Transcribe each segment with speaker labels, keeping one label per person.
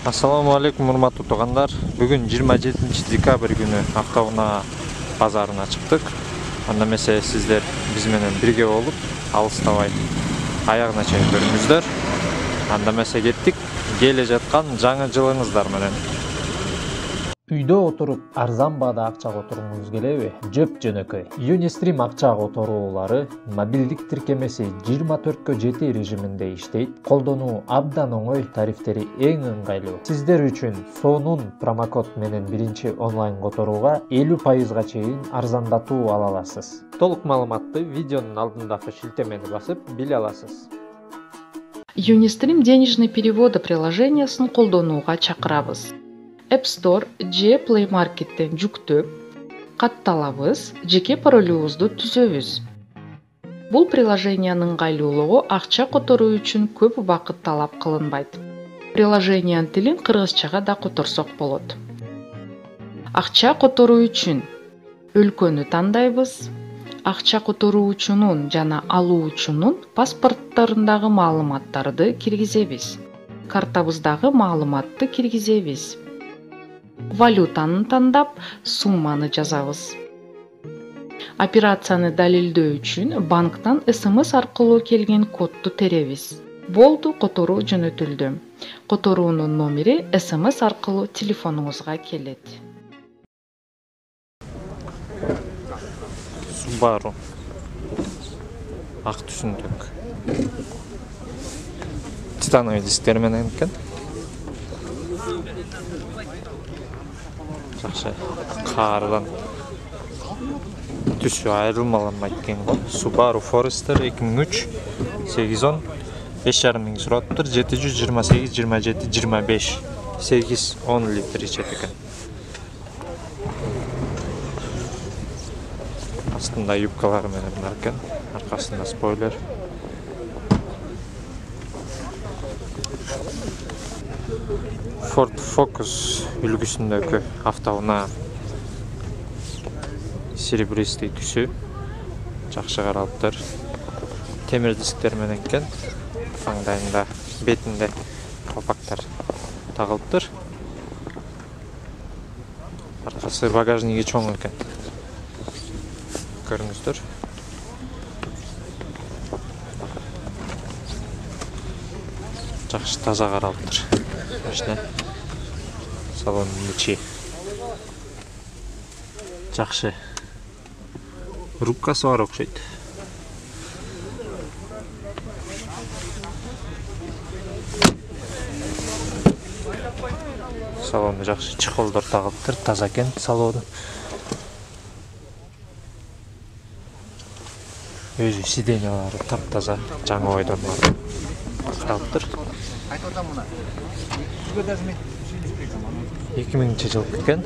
Speaker 1: Assalamu alaikum урматтуу туугандар. Бүгүн 27 декабрь күнү автоунаа базарына чыктык. Анда эмесе сиздер биз менен бирге болуп, алыстабай аягына чейин көрүңүздөр. Анда эмесе кеттик. Келе жаткан жаңы жылыңыздар менен.
Speaker 2: Үйдө отуруп арзан баада акча которгуңуз келеби? Жөп жөнөкөй. Unistream акча которуулары мобилдик тиркемеси 24/7 режиминде иштейт. Колдонуу абдан оңой, тарифтери эң ыңгайлуу. Сиздер үчүн сонун промокод менен биринчи онлайн которууга 50% чейин арзандатуу ала аласыз. Толук маалыматты видеонун алдындагы шилтемени басып биле аласыз.
Speaker 3: Unistream денежный переводы приложениясын колдонууга чакырабыз. App Store же Play Market'ten жүктөп, катталабыз, жеке паролубузду түзөбүз. Бул приложениянын ыңгайлуулугу акча которуу үчүн көп убакыт талап кылынбайт. Приложениянын тилин кыргызчага да которсок болот. Акча которуу үчүн өлкөнү тандайбыз. Акча которуучунун жана алуучунун паспорттарындагы маалыматтарды киргизебиз. Картабыздагы маалыматты киргизебиз. Валютаны тандап, сумманы жазабыз. Операцияны далилдөө үчүн банктан SMS аркылуу келген кодду теребиз. Болду, которуу жөнөтүлдү. Которуунун номери SMS аркылуу телефонуңузга келет.
Speaker 1: Subaru ак түсүндүк. Титановый дисктер менен экен. Жакшы. Каардан түсү айрылмаланбайт экен го. Subaru Forester 2003 810 5,5 миң сураттыр. 728 27 25 8-10 литр ичет экен. Астында юбкалары менен бар экен. Аркасында спойлер. Ford Focus үлгүсүндөгү автоунаа серебристый түсү жакшы каралыптыр. Темир дисктер менен экен. Маңдайында, бетинде колпактар тагылыптыр. Аркасы багажниги чоң экен. Көрүңүздөр. Жакшы таза каралыптыр. Машина салонунун ичи жакшы. Рубкасы бар окшойт. Салону жакшы, чехолдор тагылыптыр, таза экен салону. Өзү сиденьялары таптаза, жаңы ойдонмор каралыптыр. 2000 жыл экен.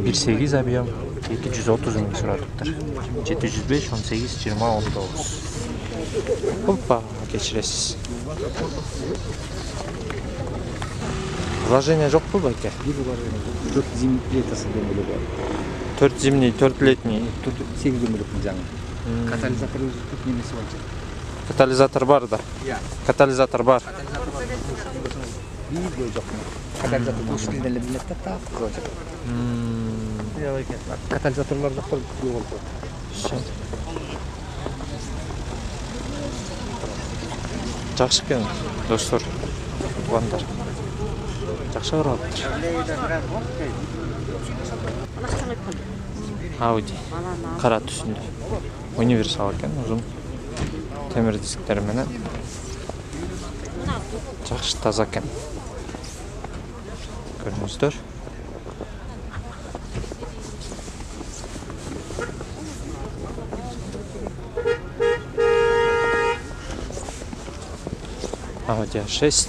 Speaker 1: 1.8 объем, 230 миң сураттыр. 705 18 20 19. Опа, кечиресиз. Вложение жокпу байке?
Speaker 4: 4 зимний плитасы демеле бар.
Speaker 1: 4 зимний, 4 летний.
Speaker 4: 8 демелектин жаңы. Катализатор өзү немеси бар.
Speaker 1: Катализатор бар да. Катализатор бар.
Speaker 4: Видео жок. Катализатор ушундай эле билет да, так кылып. Катализаторлор жоктор көп болду.
Speaker 1: Жакшы экен, достор. Туугандар. Жакшы каралыптыр. Audi кара түсүндө. Универсал экен, узун. Темир дисктер менен. Жакшы таза экен. Көрүңүздөр. Audi A6.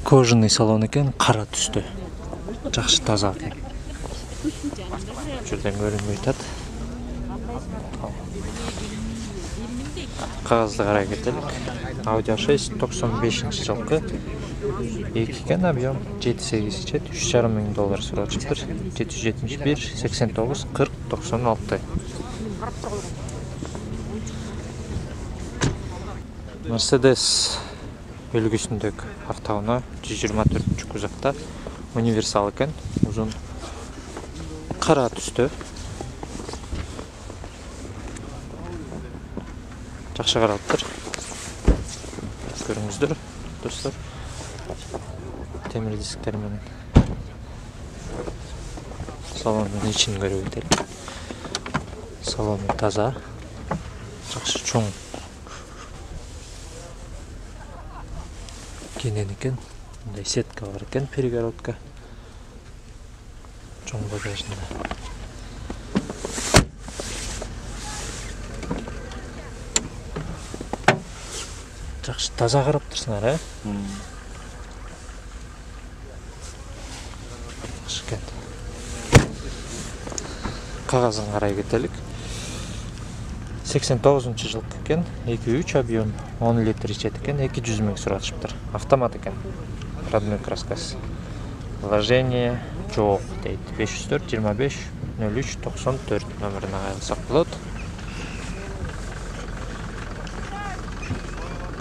Speaker 1: Кожаный салон экен, кара түстө. Жакшы таза экен. Жерден көрүнбөй атат. Кагазды карай кетелик. Audi A6 95-жылкы. 2 экен, объем 7-8 ичет, $3,5 миң сурачыптыр. 771 89 40 96. Mercedes үлгүсүндөгү автоунаа 124 кузовда универсал экен, узун кара түстө. Жакшы каралыптыр. Көрүңүздөр, достор. Темир дисктер менен салондун ичин көрүп кетели. Салону таза, жакшы чоң кенен экен. Мындай сетка бар экен, перегородка. Чоң багажында. Жакшы таза караптырсыңар, Жакшы экен. Кагазын карай кетелик. 89-жылкы экен, 2.3 объем, 10 литр ичет экен, 200 миң суратышыптыр. Автомат экен. Родной краскасы. Вложение жок дейт. 504 25 03 94 номерине кайрылсак болот.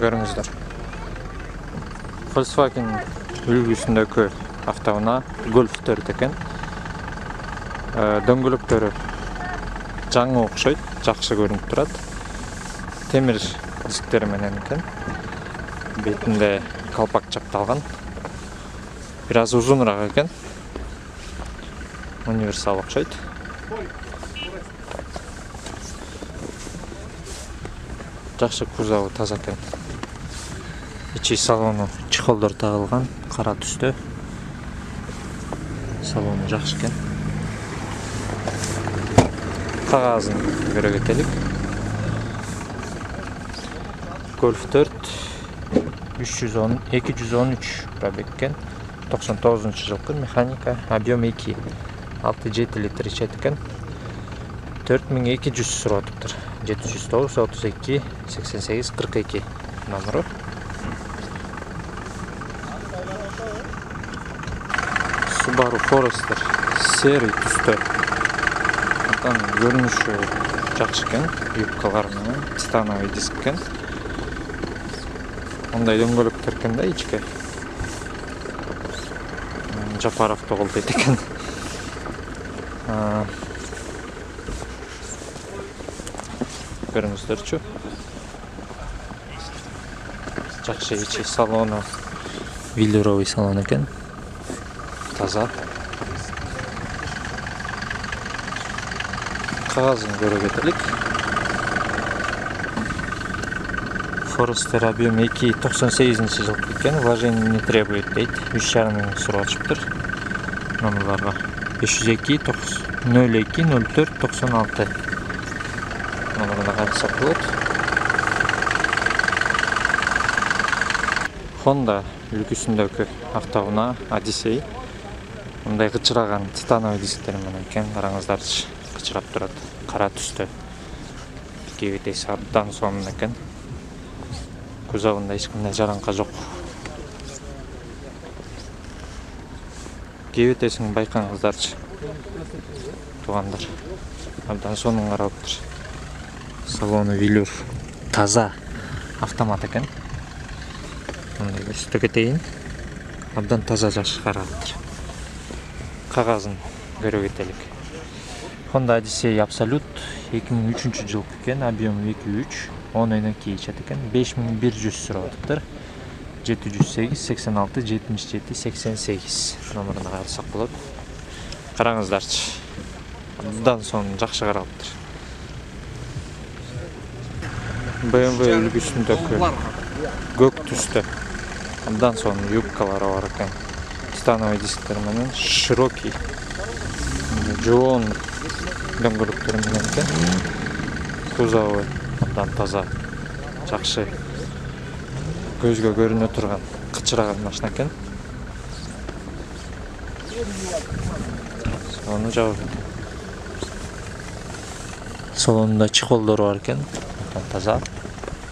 Speaker 1: Көрүңүздөр. Volkswagen үлгүсүндөгү автоунаа Golf 4 экен. Дөңгөлөктөрү жаңы окшойт, жакшы көрүнүп турат. Темир дисктери менен экен. Бетинде калпак чапталган. Бир аз узунураак экен. Универсал окшойт. Жакшы кузову таза экен. Ичи салону чехолдор тагылган, кара түстө. Салону жакшы экен. Кагазын көрө кетелик. Golf 4 213 пробег экен. 99-жылкы механика, объем 2. 6-7 литр ичет экен. 4200 суратыптыр. 709 32 88 42 номеру. Subaru Forester серый түстө. Görünüşü жакшы экен, юбкалар менен титановый диск экен. Мындай дөңгөлөктөр экен да ичке. Жапаров тогул дейт экен. Көрүңүздөрчү. Жакшы ичи салону велюровый салон экен. Таза. Кагазын көрө кетелик. Forester объем 2 98-жылкы экен, вложение не требует дейт. 3,5 миң суратышыптыр. Номерларга 502 02 04 96 номерine кайрылсак болот. Honda үлгүсүндөгү автоунаа Odyssey. Мындай кычыраган титановый дисктер менен экен, караңыздарчы. Кычырап турат, кара түстө. Кебетеси абдан сонун экен. Кузовунда эч кандай жараңка жок. Кебетесин байкаңыздарчы. Туугандар. Абдан сонун каралыптыр. Салону велюр таза, автомат экен. Мындай көрсөтө кетейин. Абдан таза жакшы каралыптыр. Кагазын көрө кетелик. Honda Odyssey Absolute 2003-жылкы экен, объем 2.3, 10.2 ичет экен, 5100 суратыптыр. 708 86 77 88 номерине кайрылсак болот. Караңыздарчы. Абдан сонун жакшы каралыптыр. BMW үлгүсүндөгү көк түстө. Абдан сонун юбкалары бар экен. Титановый дисктер менен широкий, жоон дөңгөлөктөр менен экен. Кузову абдан таза, жакшы, көзгө көрүнө турган, кычыраган машина экен. Салону жабып. Салонунда чехолдору бар экен, абдан таза.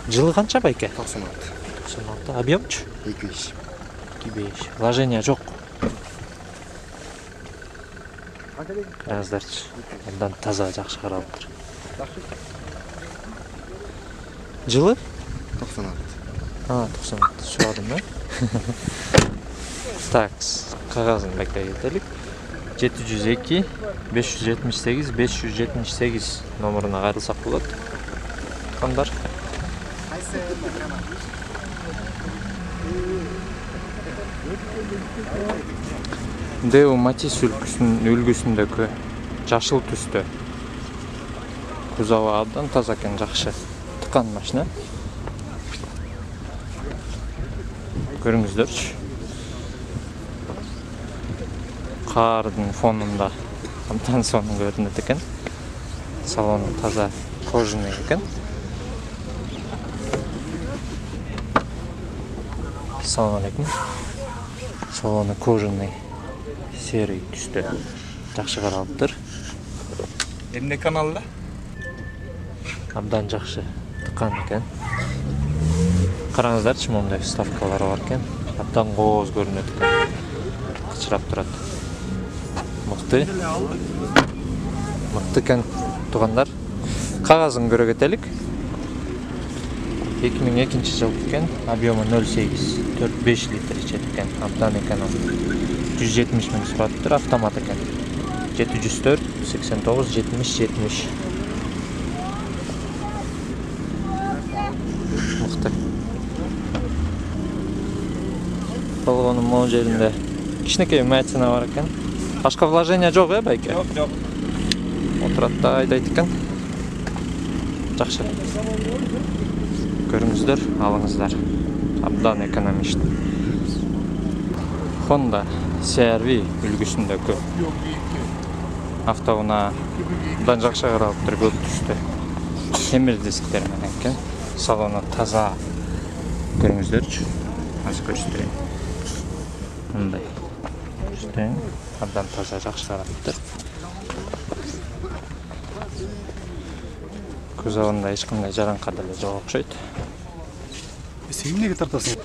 Speaker 1: Жылы канча байке?
Speaker 4: 96.
Speaker 1: 96. Объемчу?
Speaker 4: 2.5.
Speaker 1: 2.5. Вложение жок. Караңыздарчы. Абдан таза, жакшы каралыптыр. Жылы?
Speaker 4: 96.
Speaker 1: 90 сурадым да. Так, кагазын байкай кетелик. 702 578 578 номеруна кайрылсак болот. Тукандар. Део Матис үлгүсүндөгү жашыл түстө. Кузову абдан таза экен, жакшы. Тыкан машина. Көрүңүздөрчү. Кардын фонунда абдан сонун көрүнөт экен. Салону таза кожаный экен. Салон алейкум. Салону кожаный серый түстө. Жакшы каралыптыр.
Speaker 4: Эмне каналда?
Speaker 1: Абдан жакшы тыкан экен. Караңыздарчы, мондай вставкалары бар экен. Абдан кооз көрүнөт экен. Кычырап турат. Мыкты. Мыкты экен, туугандар. Кагазын көрө кетелик. 2002 жыл экен. Объему 0,8, 4-5 литр ичет экен. Абдан эконом. 170 миң сураттыр, автомат экен. 704 89 70 70. Мыкты. Болгонун могу жеринде кичинекей вмятина бар экен. Башка вложение жок, байке?
Speaker 4: Жок.
Speaker 1: Отурат да айдайт экен. Жакшы. Көрүңүздөр, алыңыздар. Абдан экономичный. Honda CR-V үлгүсүндөгү автоунаа абдан жакшы каралыптыр, көк түстө. Темир дисктер менен экен. Салону таза. Көрүңүздөрчү. Азыр көрсөтөрөйүн. Мындай. Көрсөтөйүн. Абдан таза, жакшы каралыптыр. Кузовунда эч кандай жараңка деле жок окшойт.
Speaker 4: Сен эмнеге тартасың?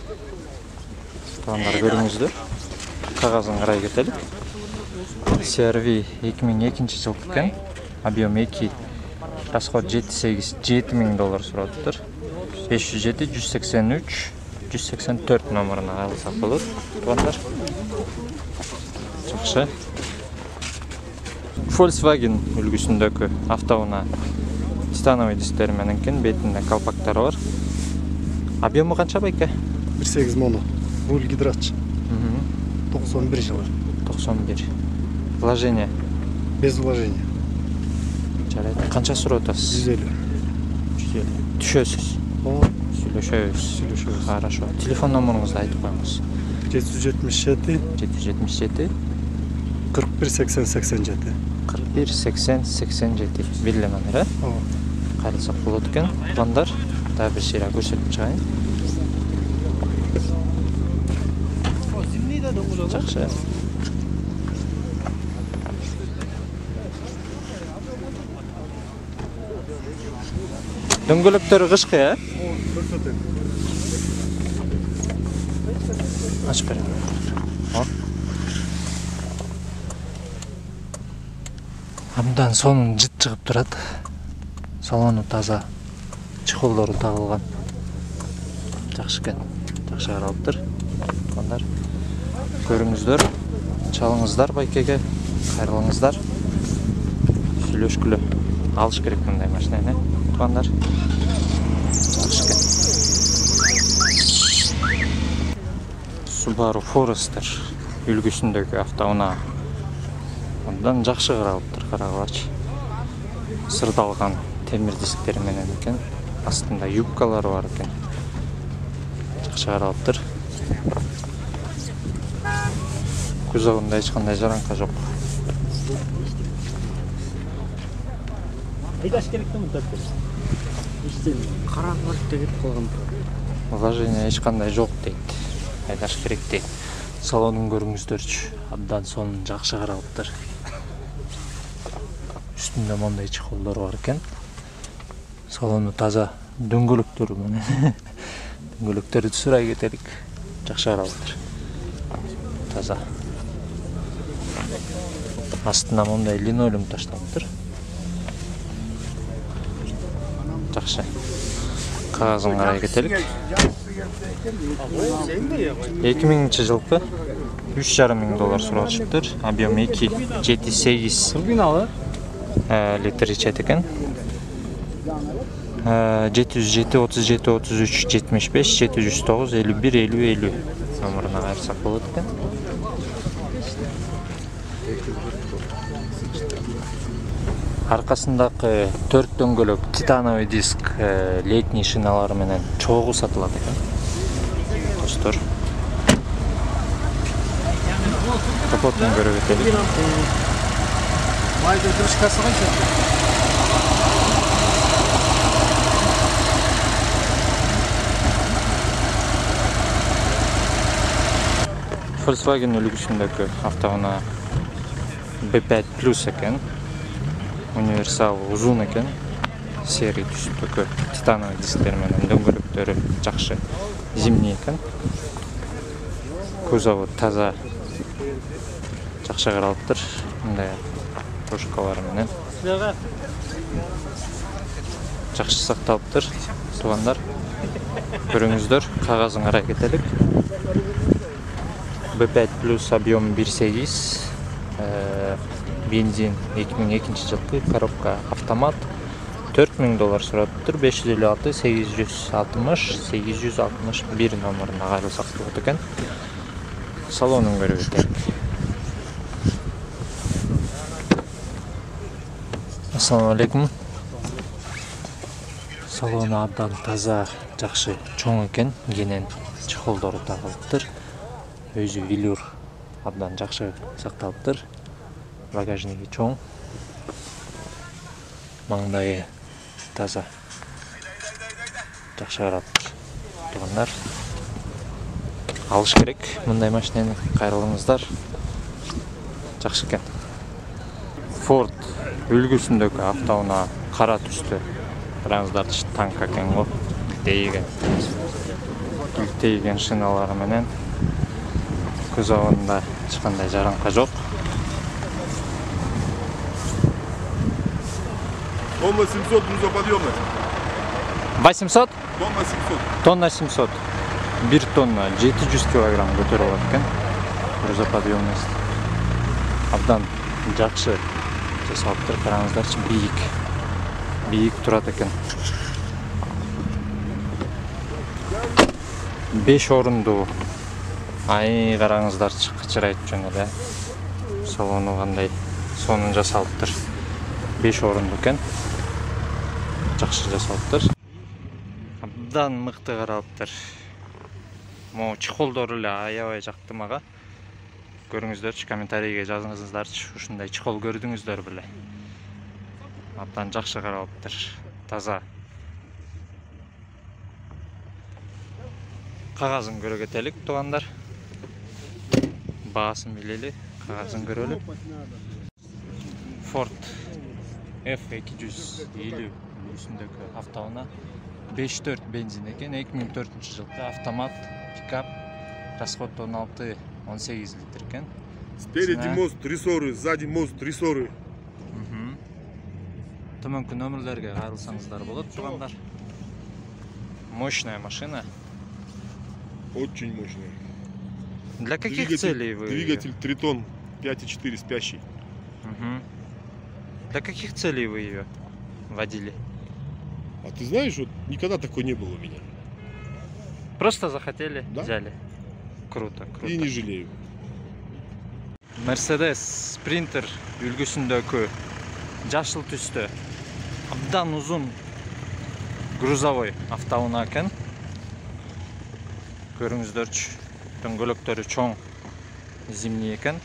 Speaker 1: Туугандар, көрүңүздөр. Кагазын карай кетелик. CR-V 2002 жыл экен. Объем 2. Расход 7,8 миң доллар сураттыр. 507 183 184 номеруна кайрылсак болот. Туугандар. Жакшы. Volkswagen үлгүсүндөгү автоунаа титановый дисктер менен экен, бетинде колпактары бар. Объему канча байке?
Speaker 5: 1.8 моно. Руль гидрач. 91 жылы.
Speaker 1: 91. Вложение?
Speaker 5: Без вложения.
Speaker 1: Жарайт. Канча сурап атасыз?
Speaker 5: 150.
Speaker 1: 150. Түшөсүз. Сүйлөшөбүз. Хорошо. Телефон номеруңузду айтып коюңуз.
Speaker 5: 777
Speaker 1: 777
Speaker 5: 41 80 87.
Speaker 1: 41 80 87. Билле номер, э? Кайрылсак болот экен. Туугандар, дагы бир шейра көрсөтүп чыгайын. Жакшы. Дөңгөлөктөрү кышкы, э? Ачып берем. Абдан сонун жыт чыгып турат. Салону таза. Чехолдору тагылган. Жакшы экен. Жакшы каралыптыр. Туугандар, көрүңүздөр, чалыңыздар байкеге, кайрылыңыздар. Сүйлөшкүлө. Алыш керек мындай машинаны, туугандар. Жакшы экен. Subaru Forester үлгүсүндөгү автоунаа абдан жакшы каралыптыр, карагылачы. Сырдалган темир дисктер менен экен. Астында юбкалары бар экен. Жакшы каралыптыр. Кузовунда эч кандай жараңка жок.
Speaker 5: Айдаш керектен мынтап. Иштен караңгылык деп калган.
Speaker 1: Вложение эч кандай жок дейт. Айдаш керек дейт. Салонун көрүңүздөрчү. Абдан сонун жакшы каралыптыр. Үстүндө мондай чехолдор бар экен. Салону таза, дөңгөлөктөрү менен. Дөңгөлөктөрү сурай кетелик. Жакшы каралыптыр. Таза. Астына мондай линолеум ташталыптыр. Жакшы. кагазын карай кетелик. 2000 жылкы $3,500 сурашыптыр. Объем 2,7-8 литр ичет экен. 707 37 33 75 709 51 50 50 номеруна кайрсак болот экен. Аркасындагы 4 дөңгөлөк титановый диск летний шиналары менен чогуу сатылат экен. Достор. Капотун көрүп кетели.
Speaker 4: Майдын крышкасы кайча?
Speaker 1: Volkswagen үлгүсүндөгү автоунаа B5 Plus экен. Универсал узун экен. Серий түстөгү титановый дисктер менен дөңгөлөктөрү жакшы зимний экен. Кузову таза жакшы каралыптыр. Мындай кружкалар менен жакшы сакталыптыр. Туугандар, көрүңүздөр, кагазын карай кетелик. B5 Plus объем 1,8, бензин 2002 жылкы, коробка автомат, $4,000 сураттыр, 556 860 861 номеруна кайрылсак болот экен. Салонун көрүп кетелик. Ассаламу алейкум. Салону абдан таза, жакшы чоң экен, кенен чехолдору тагылыптыр. Өзү велюр абдан жакшы сакталыптыр. Багажниги чоң. Маңдайы таза. Жакшы каралыптыр. Туугандар, алыш керек мындай машинени, кайрылыңыздар. Жакшы экен. Ford үлгүсүндөгү автоунаа кара түстө. Караңыздарчы, танк экен го. Илтейген шиналары менен. Кузовунда эч кандай жаранка жок.
Speaker 6: Тонна 700 грузоподъемность.
Speaker 1: 800?
Speaker 6: Тонна 700.
Speaker 1: Тонна 700. 1 тонна 700 килограмм көтөрүп алат экен. Грузоподъемность. Абдан жакшы жасалыптыр. Караңыздарчы, бийик турат экен. 5 орундуу. Ай, караңыздарчы, кычырайт жөн эле. Салону кандай сонун жасалыптыр. 5 орундуу экен. Жакшы жасалыптыр. Абдан мыкты каралыптыр. Могу чехолдору эле аябай жакты мага. Көрүңүздөрчү, комментарийге жазыңыздарчы, ушундай чехол көрдүңүздөр беле. Абдан жакшы каралыптыр. Таза. Кагазын көрө кетелик, туугандар. Баасын билели, кагазын көрөлү. Ford F250 үлгүсүндөгү автоунаа 5.4 бензин экен, 2004 жылкы автомат, пикап, расход 16-18 литр экен.
Speaker 6: Спереди мост рессоры, сзади мост рессоры.
Speaker 1: Төмөнкү номерлерге кайрылсаңыздар болот, туугандар. Мощная машина.
Speaker 6: Очень мощная.
Speaker 1: Для каких целей вы?
Speaker 6: Двигатель Тритон 5.4 спящий.
Speaker 1: Для каких целей вы ее водили?
Speaker 6: А ты знаешь, вот никогда такой не было у меня.
Speaker 1: Просто захотели,
Speaker 6: Да.
Speaker 1: взяли. Круто, круто.
Speaker 6: И не жалею.
Speaker 1: Mercedes Sprinter үлгүсүндөгү жашыл түстө абдан узун грузовой автоунаа экен. Көрүңүздөрчү, дөңгөлөктөрү чоң, зимний экен.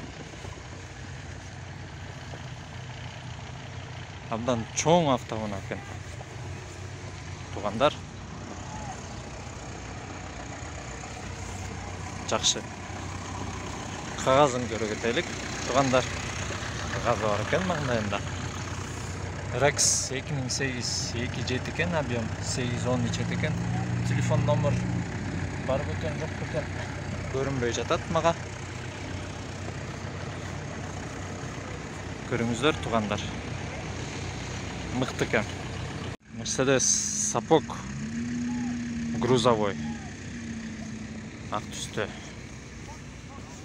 Speaker 1: Абдан чоң автоунаа экен. Туугандар, жакшы. Кагазын көрө кетелик. Туугандар, кагазы бар экен маңдайында. Rex 2008 2.7 экен, объем 8-10 ичет экен. Телефон номер бар бекен, жок бекен, көрүнбөй жатат мага. Көрүңүздөр, туугандар. Мыкты экен. Mercedes сапог грузовой. Ак түстө.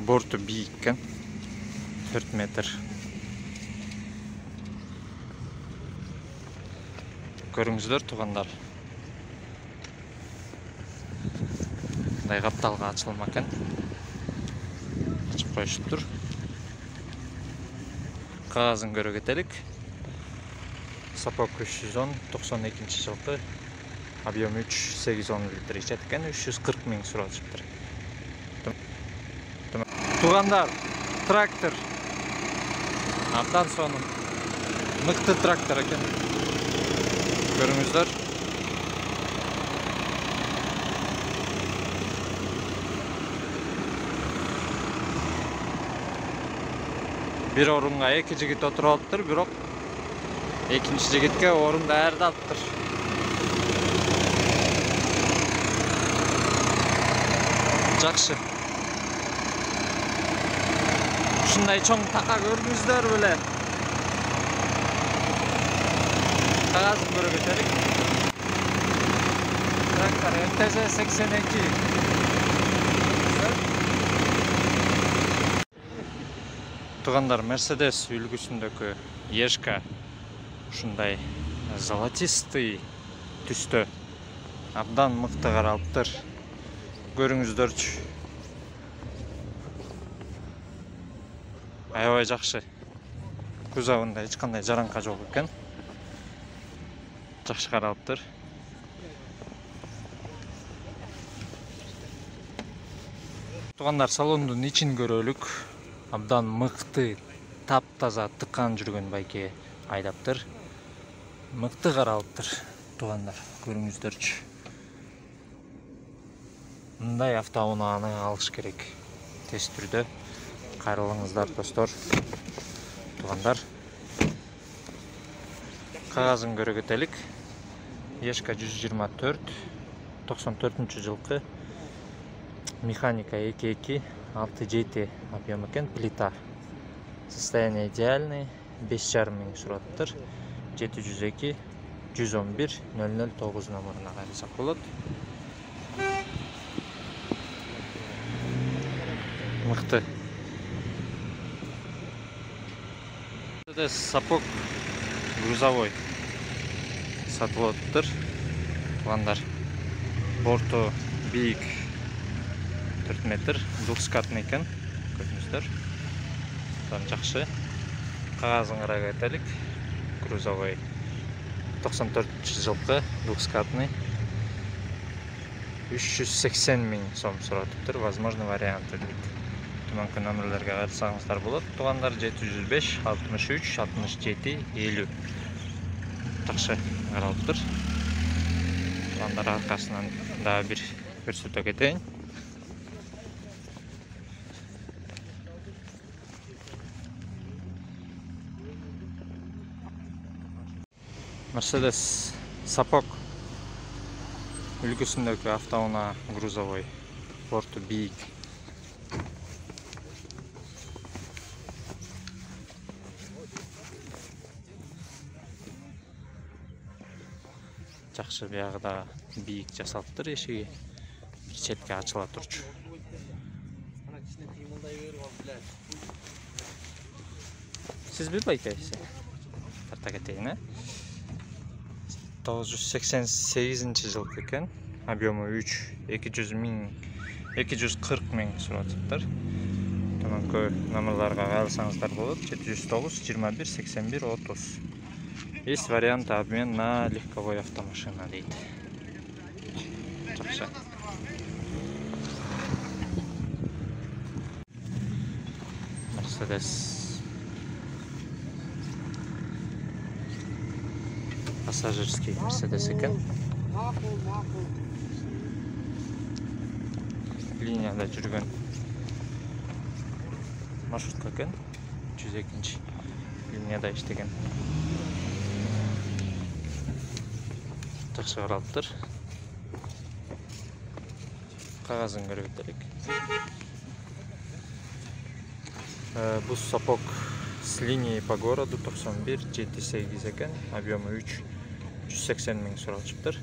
Speaker 1: Борту бийик экен. 4 метр. Көрүңүздөр туугандар. Мындай капталга ачылма экен. Ачып коюшуптур. Кагазын көрө кетелик. Сапок 310 92 жылкы. Объем 3,810 литр ичет экен. 340 миң сурашыптыр. Туугандар, трактор. Абдан сонун. Мыкты трактор экен. Көрүңүздөр. Bir orunga 2 жигит отуруп алыптыр, бирок экинчи жигитке орун даярдалыптыр. Жакшы. Ушундай чоң така көрдүңүздөр беле. Кагазын көрө кетелик. Трактор МТЗ 82. Туугандар, Mercedes үлгүсүндөгү Ешка ушундай золотистый түстө абдан мыкты каралыптыр. Көрүңүздөрчү. Аябай жакшы. Кузовунда эч кандай жаранка жок экен. Жакшы каралыптыр. Туугандар, салондун ичин көрөлүк. Абдан мыкты, таптаза тыккан жүргөн байке айдаптыр. Мыкты каралыптыр, туугандар, көрүңүздөрчү. Мындай автоунааны алыш керек. Тез түрдө. Кайрылыңыздар, достор. Туугандар. Кагазын көрө кетелик. Ешка 124 94 жылкы. Механика 2.2 6.7 объем экен, плита. Состояние идеальный, 5,5 миң сураттыр. 702 111 009 номеріне кайрылсак болот. Мыкты. Мерседес Сапок грузовой сатылып атыптыр. Туугандар, борту бийик 4 метр, двухскатный экен, көрүңүздөр. Жакшы. Кагазын карай кетелик. Грузовой 94 жылкы, двухскатный. 380 миң сом суратыптыр, возможно варианты дейт. Төмөнкү номерлерге кайрылсаңыздар болот. Туугандар, 705 63 67 50. Жакшы каралыптыр. Туугандар, аркасынан дагы бир көрсөтө кетейин. Mercedes Сапок үлгүсүндөгү автоунаа грузовой, борту бийик. Жакшы, биягы да бийик жасалыптыр, эшиги бир четке ачыла турчу. Сизби байкайсы? Тарта кетейин, 988 жылкы экен. Объему 240 миң суратыптыр. Төмөнкү номерларга кайрылсаңыздар болот. 709 21 81 30. Есть вариант обмен на легковой автомашина дейт. Жакшы. Mercedes пассажирский Mercedes экен. Линияда жүргөн маршрутка экен. 102 линияда иштеген. Жакшы каралыптыр. Кагазын көрө кетелик. Бул Сапок с линии по городу 91 78 экен. Объему 380 миң суралышыптыр.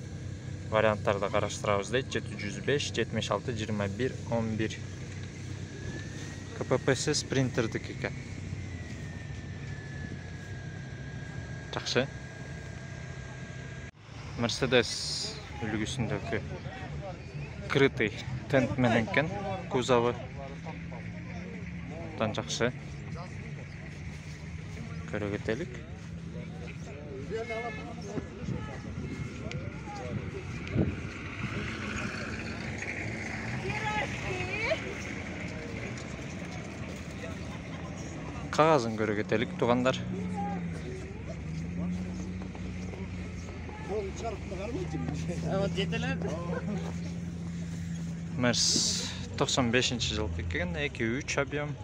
Speaker 1: варианттарды караштырабыз дейт. 705 76 21 11. КППС принтердики экен. Жакшы. Mercedes үлгүсүндөгү крытый тент менен экен кузову. Tan жакшы. Көрө кетелик. Кагазын көрө кетелик туугандар. Мерс 95-жылкы экен, 2.3 объем.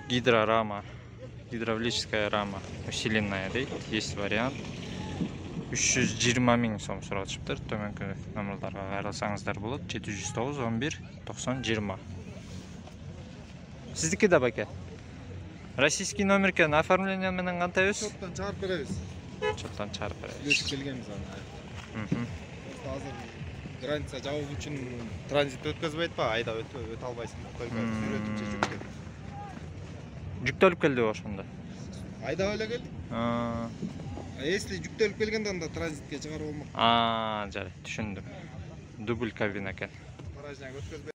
Speaker 1: Гидрорама, гидравлическая рама, усиленная дейт. Есть вариант. 320 000 сом сурашыптыр. Төмөнкү номерларга кайрылсаңыздар болот. 709 11 90 20. Сиздики да баке? Российский номер экен, оформление менен кантайбыз?
Speaker 6: Чоттон чыгарып беребиз.
Speaker 1: Чоттон чыгарып беребиз.
Speaker 6: Үлесип келгенбиз аны. Азыр граница жабуу үчүн транзит өткөзбөйт ба? Айда өтө албайсың. Сүрөтүнчө жүктөп.
Speaker 1: Жүктөлүп келди ошондо.
Speaker 6: Айда эле келди. Если жүктөлүп келгенде анда транзитке чыгарып болмок.
Speaker 1: Жарайт, түшүндүм. Дубль кабина экен.
Speaker 6: Гараждан өткөзбөйт.